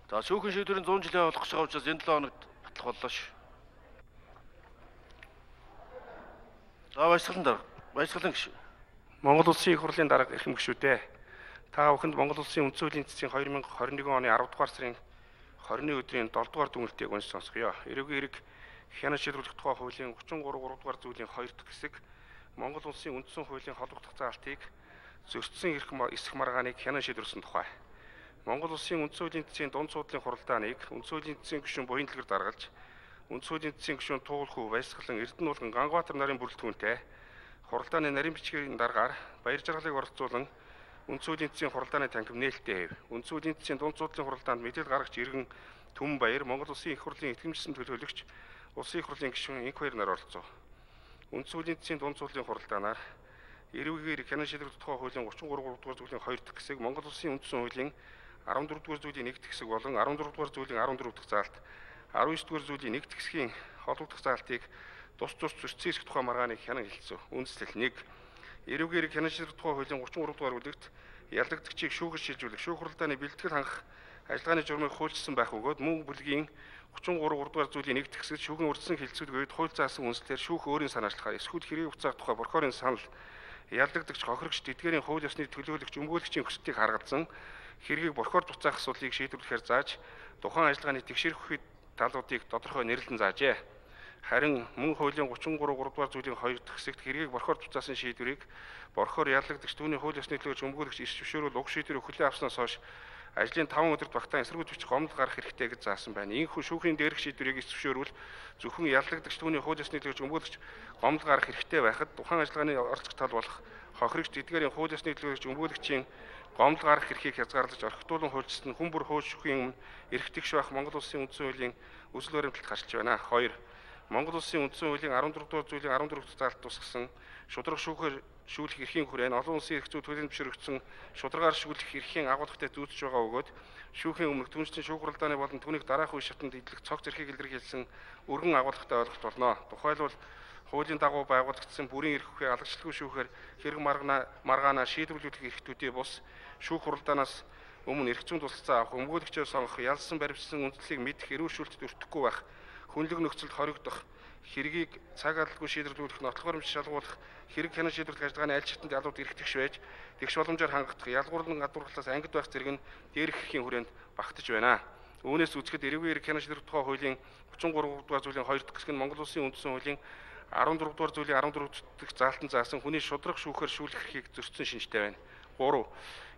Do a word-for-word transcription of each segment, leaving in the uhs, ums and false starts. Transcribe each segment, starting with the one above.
За шүүхийн шийдвэрийн cent жилийн болох гэж байгаа учраас энэ seven хоногт батлах боллоо ш. За баясгалан дарга. Баясгалан гişүү. Монгол Улсын их хурлын дарга эрхэм гишүүдээ. Та бүхэнд Монгол Улсын үндсэн хуулийн цэцгийн two thousand twenty-one оны ten дугаар сарын twenty өдрийн seven дугаар дүгнэлтийг уншиж сонсгоё. Эрүүгийн эрэг хянаж шийдвэрлэх тухай хуулийн thirty-three three дугаар зүйлийн two дахь хэсэг Монгол Улсын үндсэн хуулийн холбогдох заалтыг зөрчсөн эрх эсэх маргааныг хянаж шийдвэрлсэн тухай. Монгол Улсын үндсэн хуулийн цэцгийн дунд суудлын хуралдааныг үндсэн хуулийн цэцгийн гишүүн буян дэлгэр даргалж, үндсэн хуулийн цэцгийн гишүүн Туулхүү, Баясгалан, Эрдэнэ уулган, Ганбаатар нарын бүрэлдэхүүнтэй хуралдааны нарийн бичгийн даргаар баяр жаргалыг оролцуулан үндсэн хуулийн цэцгийн хуралдааны танхим нээлттэй хэв. Үндсэн хуулийн цэцгийн дунд суудлын хуралдаанд мэдээлэл гаргаж иргэн Түмэн Баяр Монгол Улсын их хурлын итгэмжсэн төлөөлөгч Улсын их хурлын гишүүн Инх Баяр нар оролцов. Үндсэн хуулийн цэцгийн дунд суудлын хуралдаанаар эрүүгээр хянаж шийдвэрлэх тухай хуулийн thirty-three three дугаар зүйлийн two дахь хэсэг Монгол Улсын үндсэн хуулийн fourteen дугаар зүйлийн one дахь хэсэг болон fourteen дугаар зүйлийн fourteen дахь заалт nineteen дугаар зүйлийн one дахь хэсгийн холбогдох заалтыг тус тус зөрчсөн эрх тухай маргааныг хянан хэлцв. Үндэслэл one эрүүгээр хянаж шийдвэрлэх тухай хуулийн thirty-three дугаар бүлэгт ялагдагчийг шүүхэж шилжүүлэх шүүх хуралдааны бэлтгэл хангах ажиллагааны журмыг хуульчилсан байх бөгөөд мөн бүлгийн thirty-three three дугаар зүйлийн one дахь хэсэгт шүүхийн урьдчилан хэлэлцүүлгээд хууль заасан үндслээр шүүх өөрийн санаачлахаар эсвэл хэрэг хугацаах тухай прокурорын санал ялдагдагч хохирогч тэдгээрийн хууль ёсны төлөөлөгч өмгөөлөгчийн хүслийг харгалзан хэргийг прокурор буцаах асуудлыг шийдвэрлэхээр зааж тухайн ажиллагааны тэгшэрх үед талуудыг тодорхой нэрлэн заажээ. Харин мөн хуулийн thirty-three three дугаар зүйлийн two дахь хэсэгт хэргийг прокурор буцаасан шийдвэрийг прокурор ялдагдагч түүний хууль ёсны төлөөлөгч өмгөөлөгч эрс зөвшөөрөл уг шийдвэрийг хүлээн авснаас хойш ажлын five өдөрт багтаан эсэргүүцэж бичих гомдол гарах хэрэгтэй гэж заасан байна. Ийхүү шүүхийн дээрх шийдвэрийг эрс зөвшөөрвөл зөвхөн ялдагдагч түүний хууль ёсны төлөөлөгч өмгөөлөгч гомдол гарах хэрэгтэй байхад тухайн ажиллагааны оролцох тал болох хохирогч тэдгээрийн хууль ёсны төлөөлөгч өмгөөлөгчийн гомдол гарах эрхийг хязгаарлаж орхитуулан хуульчилсан хүн бүр хууль шүүхийн өмнө эрх тэгш байх Монгол Улсын үндсэн хуулийн өсөл баримталд гарч байна. two Монгол Улсын үндсэн хуулийн fourteen дугаар зүйлийн fourteen дахь заалт тусгасан шударга шүүхээр шүүлэх эрхийн хүрээнд олон улсын эрх зүй төлөвлөмж зөвшөөрөгдсөн шударгаар шүүлэх эрхийн агуулгатай зүйцэж байгаа бөгөөд шүүхийн өмнөх түншлэн шүүх хуралдааны болон түүнийг дараах үе шатанд идэлэх цогц эрхийг илэрхийлсэн өргөн агуулгатай ойлголт болно. Тухайлбал хуулийн дагуу байгуулагдсан бүрийн эрх хүчээ алагчлалгүй шүүхээр хэрэг маргаана маргаанаа шийдвэрлүүлэх эрхтүүдээ бус шүүх хуралдаанаас өмнө эрх зүйн тусалцаа авах, өмгөөлөгчөө сонгох, ялсан баримтсан үндслийг мэдэх, эрүүл шүүлтэд өртөхгүй байх, хүнлэг нөхцөлд хоригдох, хэргийг цаг алдалгүй шийдвэрлүүлэх, нотлох баримт шалгуулах, хэрэг хянаж шийдвэрлэх ажиллагааны аль шатнд ялууд эрх тэгш байж, тэгш боломжоор хангагдах, ялгуурлан гадуурлаас ангид байх зэрэг нь дээрх эрхийн хүрээнд багтаж байна. Үүнээс үзэхэд эрүүгийн эрэг хянаж шийдвэрлэх тухай хуулийн thirty-three дугаар зүйлийн two дахь хэсэг нь Монгол Улсын үндсэн хуулийн fourteen дугаар зүйлийн fourteen дахь заалтан заасан хүний шудраг шүүхээр шүүлэх эрхийг зөрчсөн шинжтэй байна. three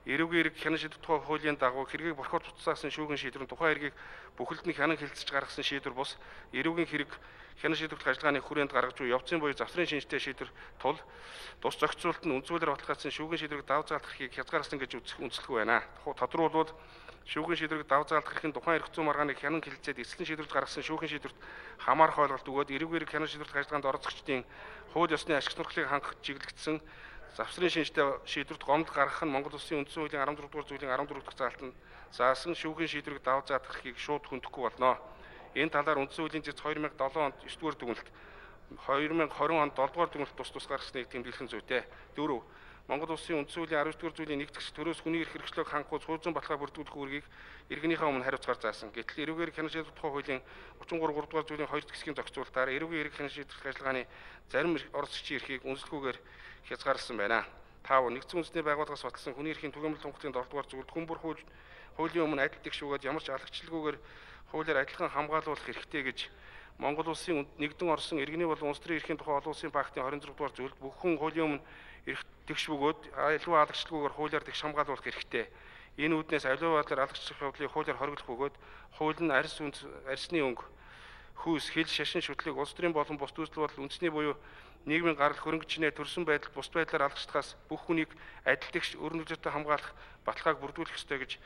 эрүүгийн эрэг хянаж шийдвэрлэх тухай хуулийн дагуу хэргийг прокурор буцаасан шүүхийн шийдвэр нь тухайн хэргийг бүхэлд нь хянан хэлэлцэж гаргасан шийдвэр бус эрүүгийн хэрэг хянаж шийдвэрлэх ажиллагааны хүрээнд гаргаж буй явцын буюу завсрын шинжтэй шийдвэр тул тус зохицуулалт нь үндсүүлээр баталгаажсан шүүхийн шийдвэрийг давж заалдах эрхийг хязгаарласан гэж үзэх үндэслэхгүй байна. Тодорхойлбол шүүхийн шийдвэрийг давж заалдах эрх нь тухайн эрх зүйн маргааныг хянан хэлэлцээд эцэслэн шийдвэрлэж гаргасан шүүхийн шийдвэрт хамаарах ойлголт өгөөд эрүүгийн эрэг хянаж шийдвэрлэх ажиллагаанд оролцогчдын хууль ёсны ашиг сонирхлыг хангах чиглэгдсэн завсрын шинжтэй шийдвэрт гомдол гаргах нь Монгол Улсын үндсэн хуулийн fourteen дугаар зүйлийн fourteen дахь заалтанд заасан шүүхийн шийдвэрийг давж заадах эрхийг шууд хөндөхгүй болно. Энэ талаар үндсэн хуулийн зэц two thousand seven онд nine дугаар дүгнэлт, two thousand twenty онд seven дугаар дүгнэлт тус тус гаргасныг тэмдэглэн зүйтэй. four Монгол Улсын үндсэн хуулийн twelve дугаар зүйлийн one дахь төрөөс хүний эрх хэрэгчлөөг хангахуйц хуучин баталгаа бүрдүүлэх үүргийг иргэнийхээ өмнө хариуцгаар заасан. Гэтэл эрүүгээр хянаж шийдвэрлэх тухай хуулийн thirty-three three дугаар зүйлийн two дахь хэсгийн зохицуулалтаар эрүүгийн эрэг хянаж шийдвэрлэх ажиллагааны зарим оролцогчийн эрхийг үнэлэхгүйгээр хязгаарласан байна. five нэгдсэн үндэсний байгууллагаас баталсан хүний эрхийн түгээмэл тунхаглалын four дугаар зүйлд хүн бүр хууль хуулийн өмнө адил тэгш бөгөөд ямар ч алагчлалгүйгээр хуулиар адилхан хамгаалуулах хэрэгтэй гэж Монгол Улсын нэгдэн Орсын иргэний болон улс төрийн эрхийн тухай олон улсын пактын twenty-six дугаар зүйлд бүх хүн хуулийн өмнө эрх тэгш бөгөөд аливаа алагчлалгүйгээр хуулиар тэгш хамгаалуулах хэрэгтэй. Энэ үүднээс аливаа байдлаар алагчлах явдлыг хуулиар хориглох бөгөөд хууль нь арьс үнд арьсны өнгө хүүс хил шашин шүтлэг улс төрийн болон бус төсөл бодол үндэсний буюу нийгмийн гарал хөрөнгөчнээ төрсөн байдал бус байдлаар алгачдахаас бүх хүнийг адил тэгш өрн үзүүртэй хамгаалах баталгааг бүрдүүлэх ёстой гэж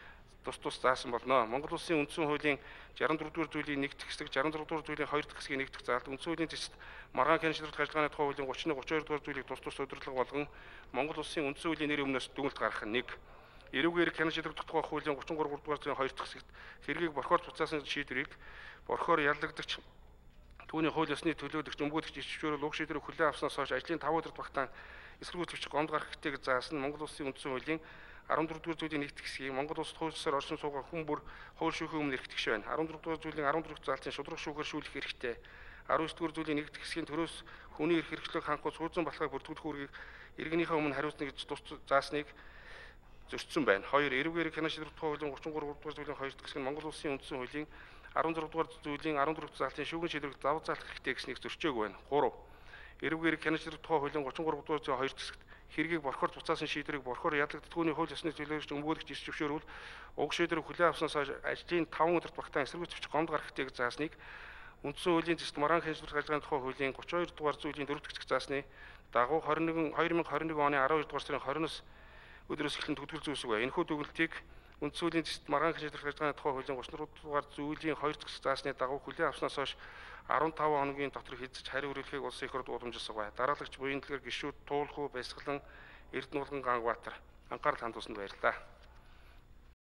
тус тус заасан болно. Монгол Улсын үндсэн хуулийн sixty-four дугаар зүйлийн one дахь хэсэг, sixty-three дугаар зүйлийн two дахь хэсгийн one дахь заалт, үндсэн хуулийн зэцэд маргаан хянаж шийдвэрлэх ажиллагааны тухай хуулийн thirty-one thirty-two дугаар зүйлийг тус тус удирдлага болгон Монгол Улсын үндсэн хуулийн нэр өмнөөс дүгнэлт гаргах нь one эрүүгийн эрэг хянаж шийдвэрлэх тухай хуулийн thirty-three three дугаар зүйлийн two дахь хэсэгт хэргийг прокурор буцаасан шийдвэрийг прокурор ялдагдагч түүний хууль ёсны төлөөлөгч өмгөөлөгч эрс зөвшөөрөл уг шийдвэрийг хүлээн авснаас хойш ажлын five өдөрт багтаан эсэргүүцэгч гомд гарах хэрэгтэй гэж заасан Монгол Улсын үндсэн хуулийн арван дөрөвдүгээр зүйлийн нэгд хэсгийг Монгол улсад хуулиар оршин суугаа хүн бүр хууль шүүхийн өмнө эрхтгш байна. арван дөрөвдүгээр зүйлийн арван дөрөв заалтын шударга шүүхээр шүүлэх хэрэгтэй. арван есдүгээр зүйлийн нэгд хэсгийн төрөөс хүний эрх хэрэгчлэг хангах сууцсан балхайг бүрдүүлэх үүргийг иргэнийхээ өмнө хариуцна гэж тус заасныг зөрчсөн байна. хоёр. Эрүүгээр хянаа шийдвэрлэх тухай хуулийн гурван гурав дугаар зүйлийн хоёр дахь хэсэг нь Монгол улсын үндсэн хуулийн арван зурав дугаар зүйлийн арван дөрөв заалтын шүүгэн шийдвэрлэх давуу заалах хэрэгтэй гэснийг зөрчөөг байна. гурав. Эрүүгээр хянаа шийдвэрлэх тухай хуулийн гурван гурав дугаар зүйлийн хоёр дахь хэсэгт хэргийг борхоор буцаасан шийдвэрийг борхоор ядлагддаггүй хууль ёсны төлөөлөгч өмгөөлөгч ирж зөвшөөрвөл уг шийдвэрийг хүлээн авснаас хойш ажлын таван өдөрт багтаан эсэргүүц бичиг гомд гарах хэрэгтэй гэж заасныг үндсэн хуулийн зэст маргаан хяншилах ажиллагааны тухай хуулийн гурван хоёр дугаар зүйлийн дөрөв дахь хэсэг заасны дагуу хоёр мянга хоёр нэг оны аравдугаар дугаар сарын двадцатоос өдрөөс эхлэн төгөлгөл зүйсэг байна. Энэхүү төгөлтийг үндсэн хуулийн зэст маргаан хяншилах ажиллагааны тухай хуулийн гурван дөрөв дугаар зүйлийн хоёр дахь хэсэг заасны дагуу хүлээн авснаас хойш арван таван хоногийн дотор хэзэж хариу хүргэлэхийг улсын их хурлд уламжилсан байна. Дараалагч буян дэлгэр гишүүд Туулхуу Баясгалан Эрдэнэ уулган Ганбаатар анхаарал хандуулсанд баярлалаа.